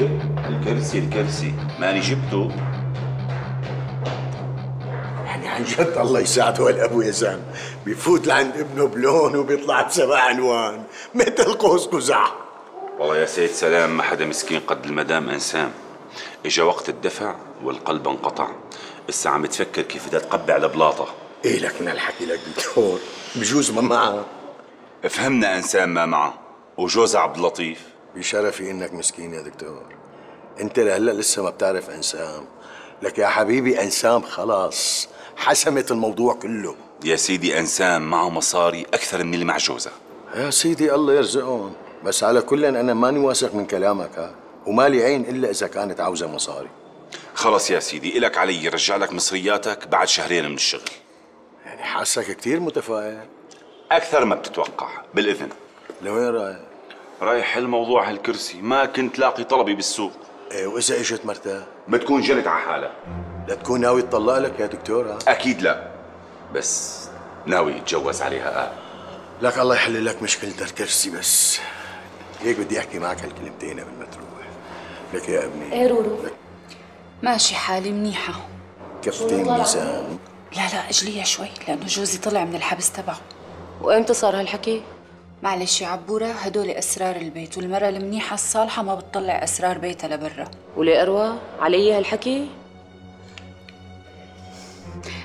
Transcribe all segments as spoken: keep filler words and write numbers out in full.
الكرسي الكرسي ماني جبته. يعني عن جد الله يساعده هالابو يا زلمه، بيفوت لعند ابنه بلون وبيطلع بسبع الوان مثل قوس قزح. والله يا سيد سلام ما حدا مسكين قد المدام انسام. اجا وقت الدفع والقلب انقطع، هسه عم تفكر كيف بدها تقبع البلاطه. ايه لك من هالحكي لك دكتور، بجوز ما معها. فهمنا انسان ما معه وجوزها عبد اللطيف. بشرفي انك مسكين يا دكتور، انت لهلا لسه ما بتعرف انسام، لك يا حبيبي انسام خلاص حسمت الموضوع كله. يا سيدي انسام معه مصاري اكثر من اللي مع جوزها. يا سيدي الله يرزقهم، بس على كل انا ماني واثق من كلامك ها، ومالي عين الا اذا كانت عاوزه مصاري. خلص يا سيدي الك علي رجع لك مصرياتك بعد شهرين من الشغل. يعني حاسك كثير متفائل. اكثر ما بتتوقع. بالاذن. لوين رايح؟ رايح الموضوع هالكرسي، ما كنت لاقي طلبي بالسوق. ايه واذا اجت مرتاه؟ بتكون جنت على حالها. لا تكون ناوي تطلق لك يا دكتور ها؟ اكيد لا، بس ناوي يتجوز عليها. آه. لك الله يحل لك مشكلة الكرسي، بس هيك بدي احكي معك هالكلمتين قبل ما تروح. لك يا ابني. ايه رورو ماشي حالي منيحة. كفتين ميزان. لا لا اجليها شوي لأنه جوزي طلع من الحبس تبعه. وامتى صار هالحكي؟ معلش يا عبورة، هدول أسرار البيت، والمرأة المنيحة الصالحة ما بتطلع أسرار بيتها لبرا. وليه أروى؟ علي هالحكي؟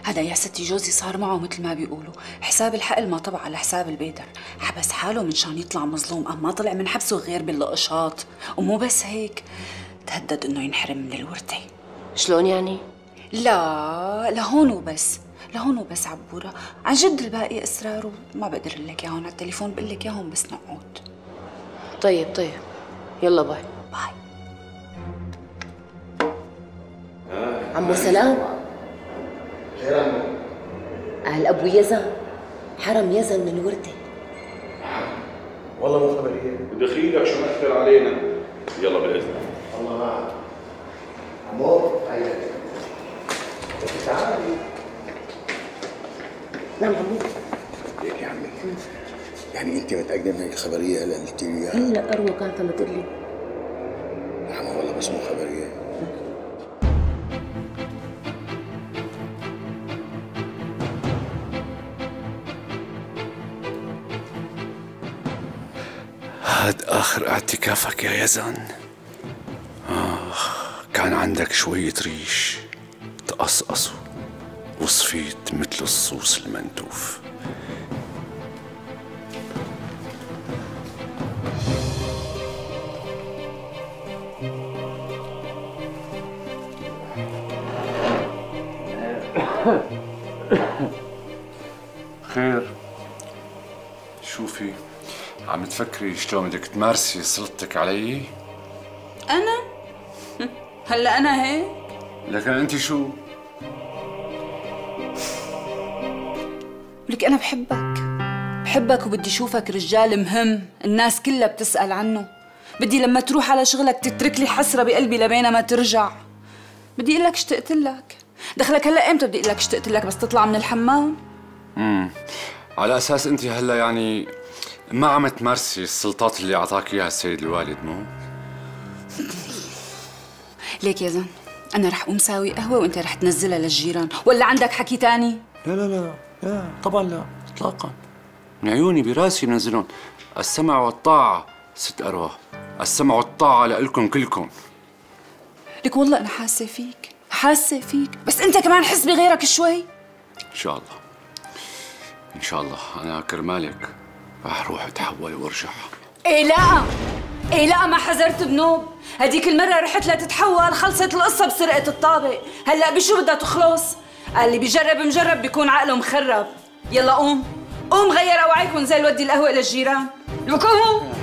هذا يا ستي جوزي صار معه مثل ما بيقولوا حساب الحقل ما طبع على حساب البيدر، حبس حاله من شان يطلع مظلوم، أما ما طلع من حبسه غير باللقشاط، ومو بس هيك تهدد إنه ينحرم من الورثة. شلون يعني؟ لا لهون وبس، لهون وبس عبورة، عن جد الباقي أسراره ما بقدر لك اياهم على التليفون، بقول لك اياهم بس نقعد. طيب طيب يلا باي. باي. عمو سلام. خير عمو. أهل أبو يزن حرم يزن من الوردة. والله مو خبرية. دخيلك شو مأثر علينا. يلا بالإذن. الله معك. عمو هيا. تعالي. نعم عمو. ليك يا عمي. يعني أنت متأكدة من الخبرية هلا اللي قلتي لي إياها؟ هلا أروى كانت عم تقول لي. يا عمو والله بس مو خبرية. هاد آخر اعتكافك يا يزن. آخ كان عندك شوية ريش تقصقصوا وصفيت مثل الصوص المنتوف. خير شوفي، عم تفكري شلون بدك تمارسي سلطتك علي؟ أنا؟ هلا أنا هيك؟ لكن أنت شو؟ لك أنا بحبك، بحبك وبدي شوفك رجال مهم، الناس كلها بتسأل عنه، بدي لما تروح على شغلك تترك لي حسرة بقلبي لبين ما ترجع. بدي أقول لك اشتقت لك، دخلك هلا إمتى بدي أقول لك اشتقت لك؟ بس تطلع من الحمام؟ امم على أساس أنت هلا يعني ما عم تمارسي السلطات اللي أعطاك إياها السيد الوالد، مو؟ ليك يا زن، أنا رح قوم ساوي قهوة وأنت رح تنزلها للجيران، ولا عندك حكي تاني؟ لا لا لا لا طبعا لا إطلاقا، من عيوني براسي بنزلهم. السمع والطاعة ست أروى، السمع والطاعة لإلكم كلكم. لك والله أنا حاسة فيك، حاسة فيك، بس أنت كمان حس بغيرك شوي. إن شاء الله إن شاء الله، أنا كرمالك رح أروح أتحول وأرجع. إيه لا إيه لا ما حذرت بنوب، هديك المرة رحت لتتحول خلصت القصة بسرقة الطابق، هلا بشو بدها تخلص؟ قال لي بجرب مجرب بيكون عقله مخرب. يلا قوم قوم غير اوعيك ونزل ودي القهوة للجيران. لك قوم.